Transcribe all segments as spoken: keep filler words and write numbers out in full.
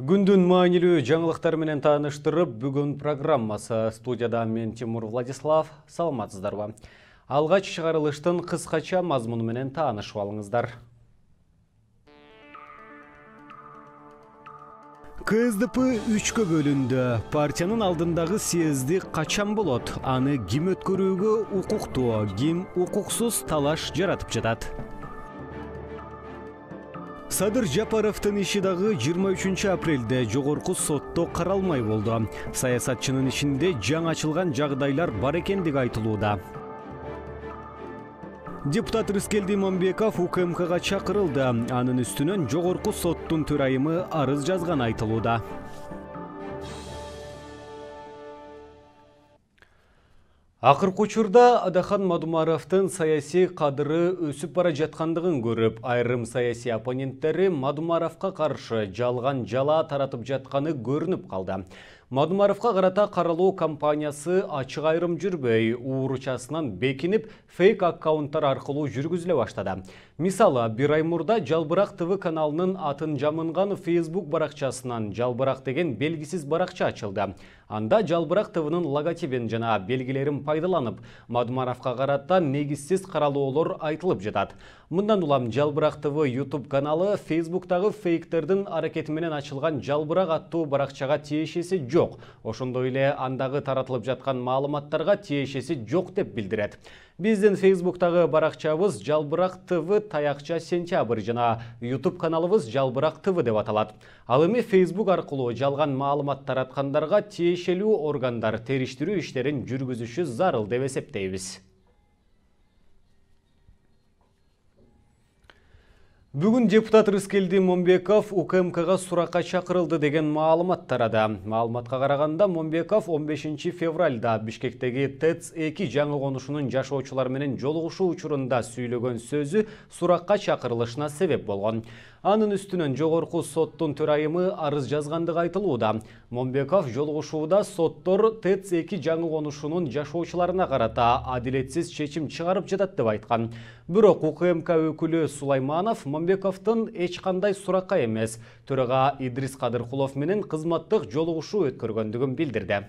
Күндүн маанилүү жаңылыктар менен тааныштырып, бүгүн программасы. Студияда мен Тимур Владислав. Саламатсыздарбы? Алгач чыгарылыштын кыскача мазмуну менен таанышып алыңыздар. КСДП үчкө бөлүндү. Партиянын алдындагы съезди качан болот? Аны ким өткөрүүгө укуктуу, ким укуксуз талаш жаратып жатат? Садыр Жапаровдун иши дагы жыйырма үчүнчү апрелде жогорку сотто каралмай болду. Саясатчынын ишинде жаңы ачылган жагдайлар бар экендиги айтылууда. Депутат Рыскелди Иманбеков У К М Кга чакырылды. Анын үстүнөн жогорку соттун төрайымы арыз жазганы айтылууда. Акыркы учурда Адахан Мадумаровдун саясий кадыры өсүп бара жаткандыгын көрүп, айрым саясий оппоненттери Мадумаровго каршы жалган жала таратып жатканы көрүнүп калды. Мадумаровго карата каралуу кампаниясы ачык айрым жүрбөй, ууручасынан бекинип, фейк аккаунттар аркылуу жүргүзүлө баштады. Мисалы, бир ай мурда Жалбырак ТВ каналынын атын жамынган Facebook баракчасынан Жалбырак деген белгисиз баракча ачылды. Анда Жалбырак ТВнын логотипин жана белгилерин пайдаланып, Мадумаровго карата негизсиз каралоолор айтылып жатат. Мындан улам Жалбырак ТВ YouTube каналы Facebooktагы фейктердин аракети менен ачылган Жалбырак аттуу баракчага тиешеси жок. Ошондой эле андагы таратылып жаткан маалыматтарга тиешеси жок деп билдирет. Биздин Facebooktагы баракчабыз Жалбырак ТВ таякча сентябрь жана YouTube каналыбыз Жалбырак ТВ деп аталат. Ал эми Facebook аркылуу жалган маалымат тараткандарга тиешелүү органдар териштирүү иштерин жүргүзүшү зарыл деп эсептейбиз. Бүгүн депутат Рыскелди Момбеков У К М Кга суракка чакырылды деген маалымат тарады. Маалыматка караганда Момбеков он бешинчи февралда Бишкектеги ТЭЦ эки жаңы конушунун жашоочулар менен жолугушуу учурунда сүйлөгөн сөзү суракка чакырылышына себеп болгон. Анын үстүнөн жогорку соттун төрайымы арыз жазгандыгы айтылууда. Момбеков жолугушууда соттор ТЭЦ эки жаңы конушунун жашоочуларына карата адилетсиз чечим чыгарып жатат деп айткан. Бирок У К М К өкүлү Сулайманов Момбековдун эч кандай суракка эмес, төрага Идрис Кадыркулов менен кызматтык жолугушуу өткөргөндүгүн билдирди.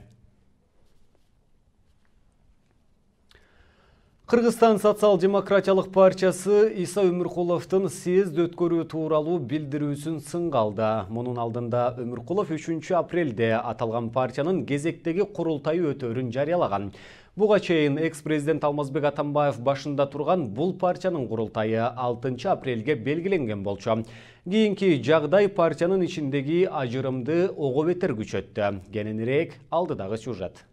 Кыргызстан социал-демократиялык партиясы Иса Өмүркуловдун съезд өткөрүү тууралуу билдирүүсүн сынга алды. Мунун алдында Өмүркулов үчүнчү апрелде аталган партиянын кезектеги курултайы өтөөрүн жарыялаган. Буга чейин экс-президент Алмазбек Атамбаев башында турган бул партиянын курултайы алтынчы апрелге белгиленген болчу. Кийинки жагдай партиянын ичиндеги ажырымды ого бетер күчөттү. Кененирээк алдыдагы сюжет.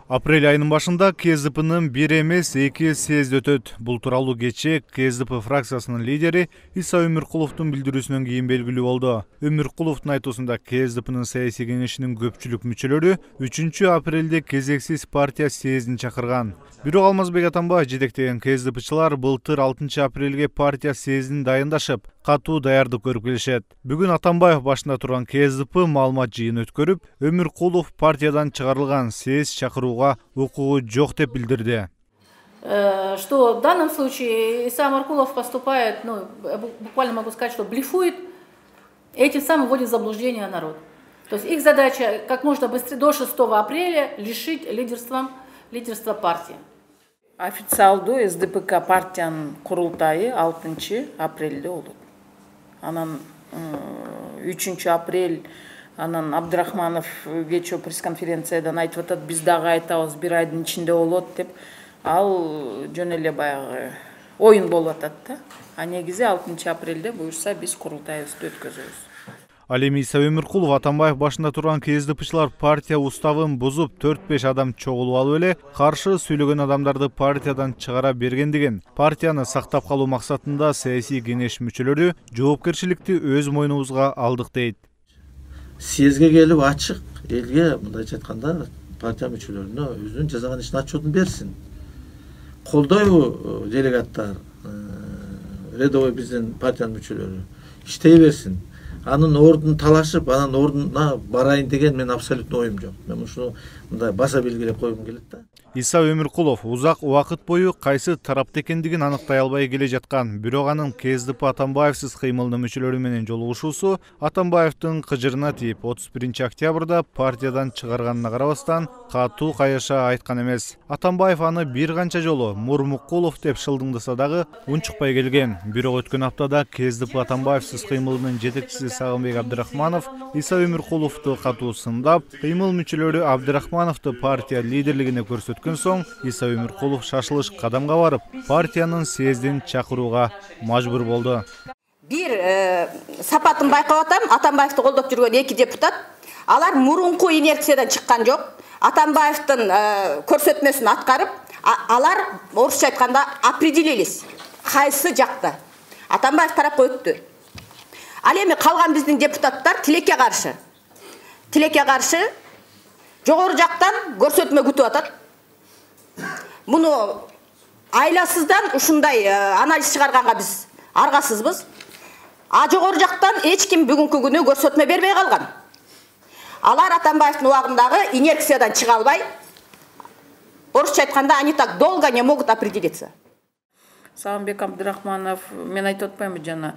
Апрель айынын башында КСДПнын бир эмес эки съезд өтөт. Бул тууралуу кечээ КСДП фракциясынын лидери Иса Өмүркуловдун билдирүүсүнөн кийин белгилүү болду. Өмүркуловдун айтуусунда КСДПнын саясий кеңешинин көпчүлүк мүчөлөрү үчүнчү апрелде кезексиз партия съездин чакырган. Бирок Алмазбек Атамбаев жетектеген КСДПчылар былтыр алтынчы апрелге партия съездин дайындашып, катуу даярдык көрүп келишет. Бүгүн Атамбаев башында турган КСДП маалымат жыйын өткөрүп, Өмүркулов партиядан чыгарылган, съезд чакырууга укугу жок деп билдирди. Что в данном случае Иса Өмүркулов поступает, ну, буквально могу сказать, что блефует, этим самым вводит в заблуждение народ. То есть их задача как можно быстрее до шестого апреля лишить лидерством, лидерства партии. Официалдуу С Д П К партиянын курултайы алтынчы апрелде болот. Анан үчүнчү апрель анан Абдрахманов кечээ пресс-конференциядан айтып атат, биз дагы айтабыз бир айдын ичинде болот деп. Ал жөн эле баягы оюн болуп атат да. А негизи алтынчы апрелде буюрса биз курултайыбызды өткөзөбүз. Ал эми Иса Өмүркулов Атамбаев башында турган КСДПчылар партия уставын бузуп төрт беш адам чогулуп алып эле каршы сүйлөгөн адамдарды партиядан чыгара бергендигин, партияны сактап калуу максатында саясий кеңеш мүчөлөрү жоопкерчиликти өз мойнубузга алдык дейт. Съездге келип ачык элге мындайча айтканда партия мүчөлөрүнө өзүнүн жасаган ишин отчетун берсин. Колдойбу делегаттар, рядовой биздин партиянын мүчөлөрү иштей берсин. Анын ордун талашып, анын ордуна барайын деген мен абсолютно оюм жок. Мен ушуну мындай баса белгилеп койгум келет да. Иса Өмүркулов узак убакыт бою кайсы тарапта экендигин аныктай албай келе жаткан, бирок анын КСДП Атамбаевсиз кыймылынын мүчөлөрү менен жолугушуусу Атамбаевдин кыжырына тийип, отуз биринчи октябрда партиядан чыгарганына карабастан катуу кайыша айткан эмес. Атамбаев аны бир канча жолу Мурмукулов деп шылдыңдаса дагы унчукпай келген. Бирок өткөн аптада КСДП Атамбаевсиз кыймылынын жетекчиси Сагынбек Абдрахманов Иса Өмүркуловду катуу сындап, кыймыл мүчөлөрү Абдрахмановду партия лидерлигине көрсөткөн соң Иса Өмүркулов шашылыш кадамга барып, партиянын съездин чакырууга мажбур болду. Бир сапатын байкап атам, Атамбаевди колдоп жүргөн эки депутат, алар мурунку инерциядан чыккан жок. Атамбаевдин көрсөтмөсүн аткарып, алар орусча айтканда определились. Кайсы жакта? Атамбаев тарапка өттү. Ал эми калган биздин депутаттар тилекке каршы. Тилекке каршы жогору жактан көрсөтмө күтүп атат. Муну айласыздан ушундай анализ чыгарганга биз аргасызбыз. А жогору жактан эч ким бүгүнкү күнү көрсөтмө бербей калган. Алар Атамбаевдин убагындагы инерциядан чыга албай, орусча айтканда они так долго не могут определиться. Сагынбек Абдрахманов, мен айтып атпаймынбы жана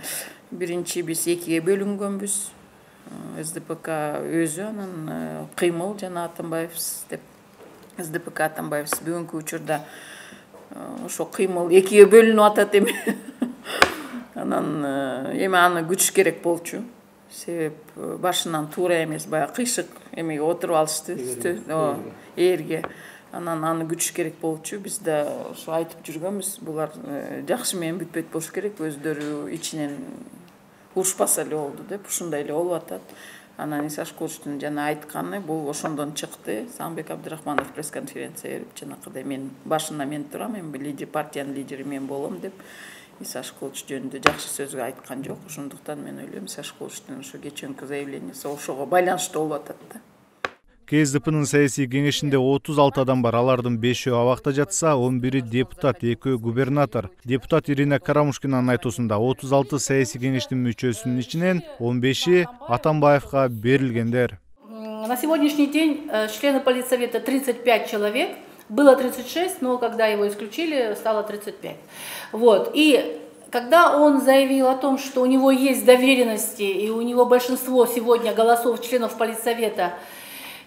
биринчи биз экиге бөлүнгөнбүз. СДПК өзү анан кыймыл жана Атамбаевсиз деп. СДПК Атамбаевсиз бүгүнкү учурда ошо кыймыл экиге бөлүнүп атат эми. Анан эми аны күтүш керек болчу. Себеп башынан туура эмес, баягы кыйшык эмеге отуруп алышты, ээрге. Анан аны күтүш керек болчу. Биз да ошо айтып жүргөнбүз. Булар жакшы менен бүтпөйт болуш керек, өздөрү ичинен урушпаса эле болду деп, ушундай эле болуп атат. Анан Иса Шкуловдун жана айтканы бул ошондон чыкты. Сагынбек Абдрахманов пресс-конференция берип, жанакыдай мен башында мен турам, эми лидер партиянын лидери мен болом деп Иса Шкуловч жөнүндө жакшы сөзгө айткан жок. Ошондуктан мен ойлойм, Иса Шкуловдун ошо кечээки заявлениясы ошого байланыштуу болуп атат да. КСДПнын саясий кеңешинде отуз алты адам бар. Алардын бешөө абакта жатса, он бири депутат, экөө губернатор. Депутат Ирина Карамушкинанын айтуусунда отуз алты саясий кеңештин мүчөсүнүн ичинен он беши Атамбаевга берилгендер. На сегодняшний день члены Политсовета тридцать пять человек. Было тридцать шесть, но когда его исключили, стало тридцать пять. Вот. И когда он заявил о том, что у него есть доверенности, и у него большинство сегодня голосов членов Политсовета,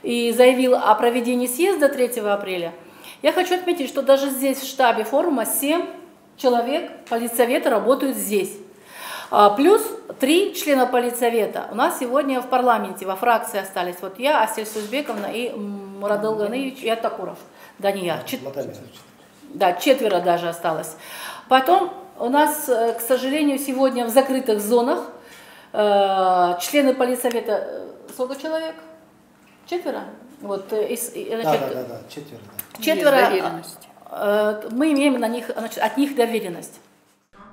и заявил о проведении съезда третьего апреля, я хочу отметить, что даже здесь, в штабе форума, семь человек Политсовета работают здесь. Плюс три члена Политсовета у нас сегодня в парламенте, во фракции остались. Вот я, Асель Сузбековна и Мурадыл Ганыевич и Атакуров. Данияр. Чет... Да, четверо даже осталось. Потом у нас, к сожалению, сегодня в закрытых зонах э, члены Политсовета, сколько человек? Четверо? Вот, и, значит, да, да, да, да, четверо. Да. Четверо, э, мы имеем на них, значит, от них доверенность.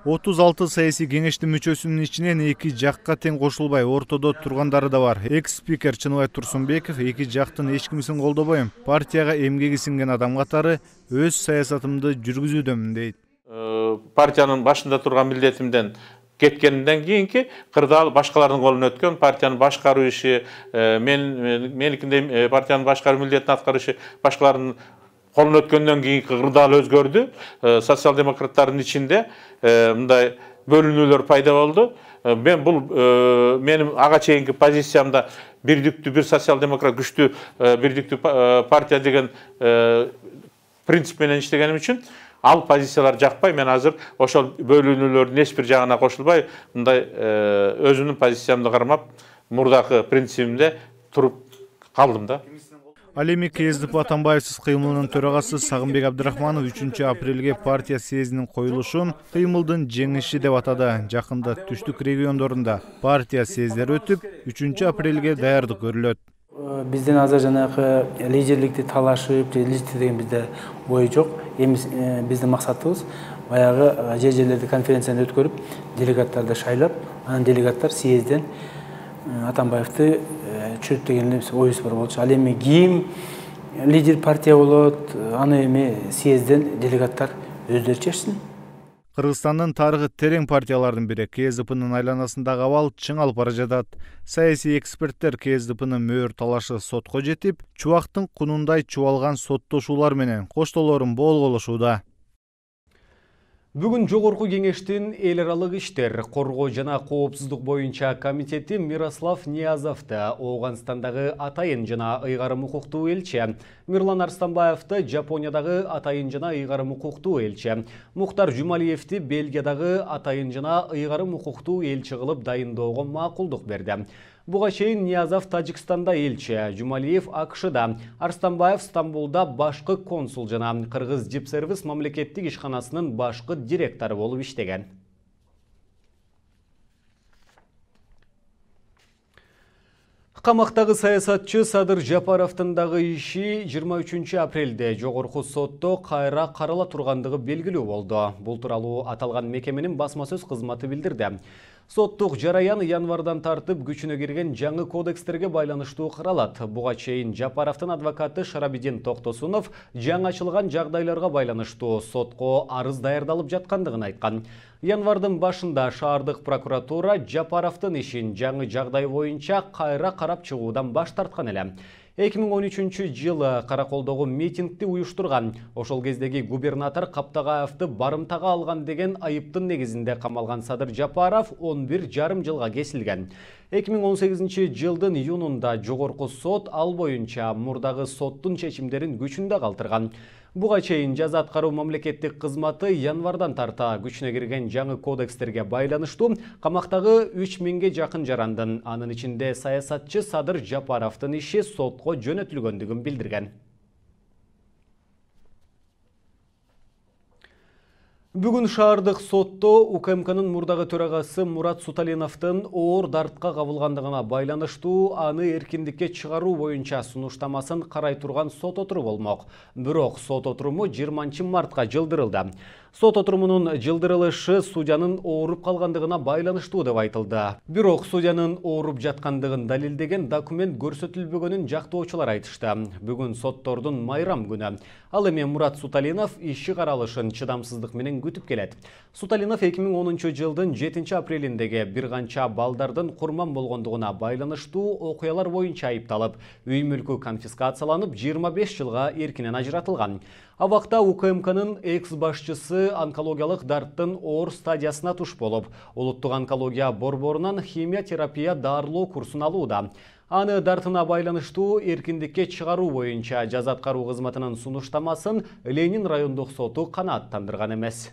отуз алты саясий кеңештин мүчөсүнүн ичинен эки жакка тең кошулбай ортодо тургандары да бар. Экс-спикер Чыныбай Турсунбеков эки жактын эч кимисин колдобойм, партияга эмгеги сиңген адам катары өз саясатымды жүргүзүүдөмүн дейт. Партиянын башында турган милдетимден кеткенден кийинки кырдаал башкалардын колуна өткөн, партиянын башкаруу иши, мен меникиндей партиянын башкаруу милдетин аткаруу иши башкалардын колуна өткөндөн кийинки кырдаал өзгөрдү. Социал-демократтардын ичинде мындай бөлүнүүлөр пайда болду. Мен бул менин ага чейинки позициямда бирдиктүү, бир социал-демократ күчтүү бирдиктүү партия деген принцип менен иштегеним үчүн ал позициялар жакпай, мен азыр ошол бөлүнүүлөрдүн эч бир жагына кошулбай, мындай өзүмдүн позициямды кармап, мурдакы принцибимде туруп калдым да. Ал эми КСДП Атамбаевсиз кыймылынын төрагасы Сагынбек Абдрахманов үчүнчү апрелге партия съездинин коюлушун кыймылдын жеңиши деп атады. Жакында түштүк региондорунда партия съездери өтүп, үчүнчү апрелге даярдык көрүлөт. Бизден азыр жанагы лидерликти талашып, лидерликти деген бизде ой жок. Эми биздин максатыбыз баягы жер жерлерде конференцияны өткөрүп, делегаттарды шайлап, анан делегаттар съездден Атамбаевди чүрүп деген оюбуз бар болчу. Ал эми ким лидер партия болот, аны эми съездден делегаттар өздөрү чечсин. Кыргызстандын тарыхы терең партиялардын бири КСДПнын айланасындагы абал чың алып бара жатат. Саясий эксперттер КСДПнын мөөр талашы сотко жетип, чубактын кунундай чубалган соттошуулар менен коштоолорун болголошууда. Бүгүн Жогорку кеңештин эл аралык иштер, коргоо жана коопсуздук боюнча комитети Мирослав Ниязовду, Оогунстандагы атайын жана ыйгарым укуктуу элчи, Мирлан Арстанбаевди Жапониядагы атайын жана ыйгарым укуктуу элчи, Мухтар Жумалиевди Бельгиядагы атайын жана ыйгарым укуктуу элчи кылып дайындоого макулдук берди. Буга чейин Ниязов Тажикстанда элчи, Жумалиев АКШда, Арстанбаев Стамбулда башкы консул жана Кыргыз Дипсервис мамлекеттик ишканасынын башкы директору болуп иштеген. Камактагы саясатчы Садыр Жапаровдун дагы иши жыйырма үчүнчү апрелде Жогорку сотто кайра карала тургандыгы белгилүү болду. Бул тууралуу аталган мекеменин басма сөз кызматы билдирди. Соттук жараян январдан тартып күчүнө кирген жаңы кодекстерге байланыштуу каралат. Буга чейин Жапаровдун адвокаты Шарабидин Токтосунов жаңы ачылган жагдайларга байланыштуу сотко арыз даярдалып жаткандыгын айткан. Январдын башында шаардык прокуратура Жапаровдун ишин жаңы жагдай боюнча кайра карап чыгуудан баш тарткан эле. эки миң он үчүнчү жылы Караколдогу митингди уюштурган, ошол кездеги губернатор Каптагаевди барымтага алган деген айыптын негизинде камалган Садыр Жапаров он бир жарым жылга кесилген. эки миң он сегизинчи жылдын июнунда Жогорку сот ал боюнча мурдагы соттун чечимдерин күчүндө калтырган. Буга чейин жаза аткаруу мамлекеттик кызматы январдан тарта күчүнө кирген жаңы кодекстерге байланыштуу камактагы үч миңге жакын жарандын, анын ичинде саясатчы Садыр Жапаровдун иши сотко жөнөтүлгөндүгүн билдирген. Бүгүн шаардык сотто УКМКнын мурдагы төрагасы Мурат Суталиновдун оор дартка кабылгандыгына байланыштуу аны эркиндикке чыгаруу боюнча сунуштамасын карай турган сот отуруу болмок. Бирок сот отуруму жыйырманчы мартка жылдырылды. Сот отурумунун жылдырылышы судьянын ооруп калгандыгына байланыштуу деп айтылды. Бирок судьянын ооруп жаткандыгын далилдеген документ көрсөтүлбөгөнүн жактоочулар айтышты. Бүгүн соттордун майрам күнү. Ал эми Мурат Суталинов иши каралышын чыдамсыздык менен күтүп келет. Суталинов эки миң онунчу жылдын жетинчи апрелиндеги бир канча балдардын курман болгондугуна байланыштуу окуялар боюнча айыпталып, үй мүлкү конфискацияланып жыйырма беш жылга эркинен ажыратылган. Абакта УКМКнын экс башчысы онкологиялык дарттын оор стадиясына туш болуп, улуттук онкология борборунан химия терапия дарылоо курсун алууда. Аны дартына байланыштуу эркиндикке чыгаруу боюнча жаза аткаруу кызматынын сунуштамасын Ленин райондук соту канааттандырган эмес.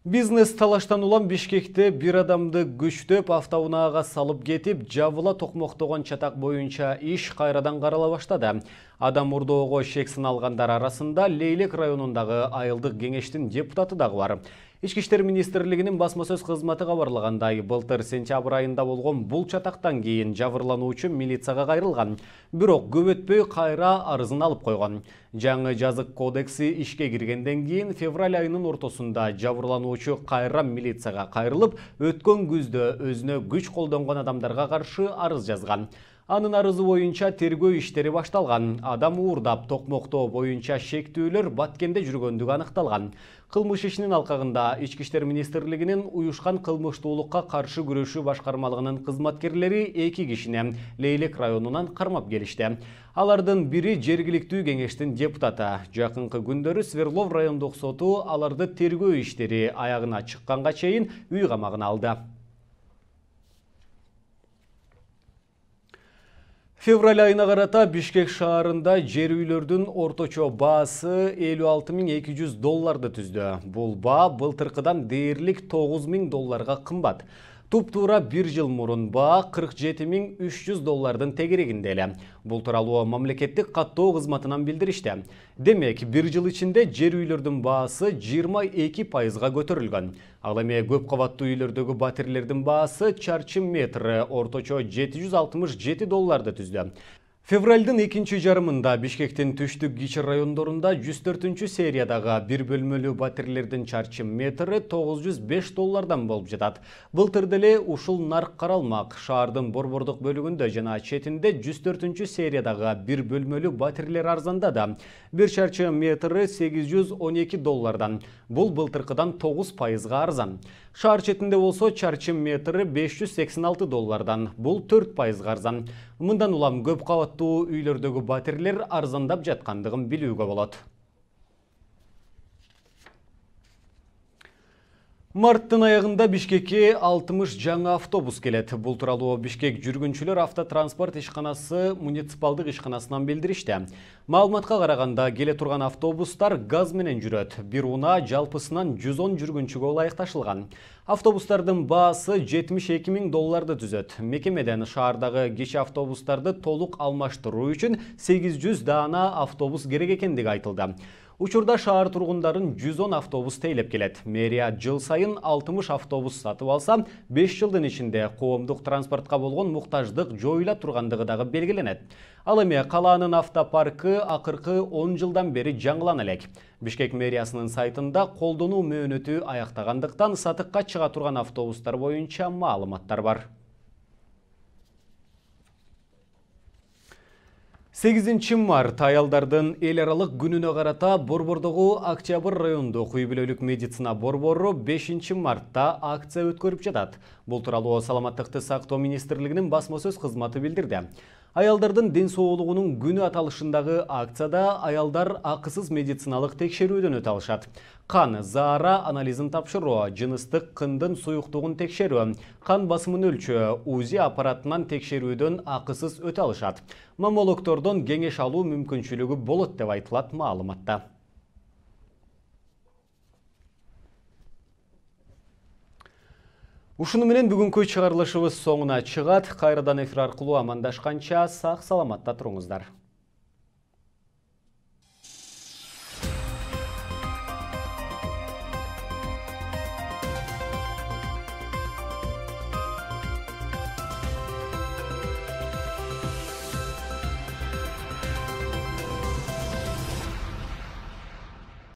Бизнес талаштан улам Бишкекте бир адамды күчтөп автоунаага салып кетип, жабыла токмоктогон чатак боюнча иш кайрадан карала баштады. Адам урдоого шек сыналгандар арасында Лейлек районундагы айылдык кеңештин депутаты дагы бар. Ички иштер министрлигинин басма сөз кызматы кабарлагандай, былтыр сентябрь айында болгон бул чатактан кийин жабырлануучу милицияга кайрылган. Бирок көп өтпөй кайра арызын алып койгон. Жаңы жазык кодекси ишке киргенден кийин февраль айынын ортосунда жабырлануучу кайра милицияга кайрылып, өткөн күздө өзүнө күч колдонгон адамдарга каршы арыз жазган. Анын арызы боюнча тергөө иштери башталган. Адам уурдап токмоктоо боюнча шектүүлөр Баткенде жүргөндүгү аныкталган. Кылмыш ишинин алкагында Ички иштер министрлигинин уюшкан кылмыштуулукка каршы күрөшүү башкармалыгынын кызматкерлери эки кишини Лейлек районунан кармап келишти. Алардын бири жергиликтүү кеңештин депутаты. Жакынкы күндөрү Сверлов райондук соту аларды тергөө иштери аягына чыкканга чейин үй камагына алды. Февраль айына карата Бишкек шаарында жер үйлөрдүн орточо баасы элүү алты миң эки жүз долларды түздү. Бул баа былтыркыдан дээрлик тогуз миң долларга кымбат. Туп-туура бир жыл мурун баа кырк жети миң үч жүз доллардын тегерегинде эле. Бул тууралуу мамлекеттик каттоо кызматынан билдиришти. Демек, бир жыл ичинде жер үйлөрдүн баасы жыйырма эки пайызга көтөрүлгөн. Ал эми көп кабаттуу үйлөрдөгү батирлердин баасы чарчы метрі орточо жети жүз алтымыш жети долларды түздү. Февралдын экинчи жарымында Бишкектин түштүк кичи райондорунда жүз төртүнчү сериядагы бир бөлмөлүү батирлердин чарчы метри тогуз жүз беш доллардан болуп жатат. Былтыр деле ушул нарк каралмак. Шаардын борбордук бөлүгүндө жана четинде жүз төртүнчү сериядагы бир бөлмөлүү батирлер арзандады. Бир чарчы метри сегиз жүз он эки доллардан. Бул былтыркыдан тогуз пайызга арзан. Шаар четинде болсо чарчы метри беш жүз сексен алты доллардан. Бул төрт пайызга арзан. Мындан улам көп кабаттуу үйлөрдөгү батирлер арзандап жаткандыгын билүүгө болот. Марттын аягында Бишкекке алтымыш жаңы автобус келет. Бул тууралуу Бишкек жүргүнчүлөр автотранспорт ишканасы муниципалдык ишканасынан билдиришти. Маалыматка караганда келе турган автобустар газ менен жүрөт. Бир унаа жалпысынан жүз он жүргүнчүгө ылайыкташылган. Автобустардын баасы жетимиш эки миң долларды түзөт. Мекемеден шаардагы кичи автобустарды толук алмаштыруу үчүн сегиз жүз даана автобус керек экендиги айтылды. Учурда шаар тургундарын жүз он автобус тейлеп келет. Мэрия жыл сайын алтымыш автобус сатып алса, беш жылдын ичинде коомдук транспортко болгон муктаждык жоюла тургандыгы дагы белгиленет. Ал эми калаанын автопаркы акыркы он жылдан бери жаңылана элек. Бишкек мэриясынын сайтында колдонуу мөөнөтү аяктагандыктан сатыкка чыга турган автобустар боюнча маалыматтар бар. сегизинчи март аялдардын эл аралык күнүнө карата Борбордогу Октябрь райондук үй бүлөлүк медицина борбору бешинчи мартта акция өткөрүп жатат. Бул тууралуу Саламаттыкты сактоо министрлигинин басма сөз кызматы билдирди. Аялдардын ден соолугунун күнү аталышындагы акцияда аялдар акысыз медициналык текшерүүдөн өтө алышат. Кан, заара анализин тапшыруу, жыныстык кындын суюктугун текшерүү, кан басымын өлчөө, УЗИ аппаратынан текшерүүдөн акысыз өтө алышат. Маммологтордон кеңеш алуу мүмкүнчүлүгү болот деп айтылат маалыматта. Ушуну менен бүгүнкү чыгарылышыбыз соңуна чыгат. Кайрадан эфир аркылуу амандашканча сак саламатта туруңуздар.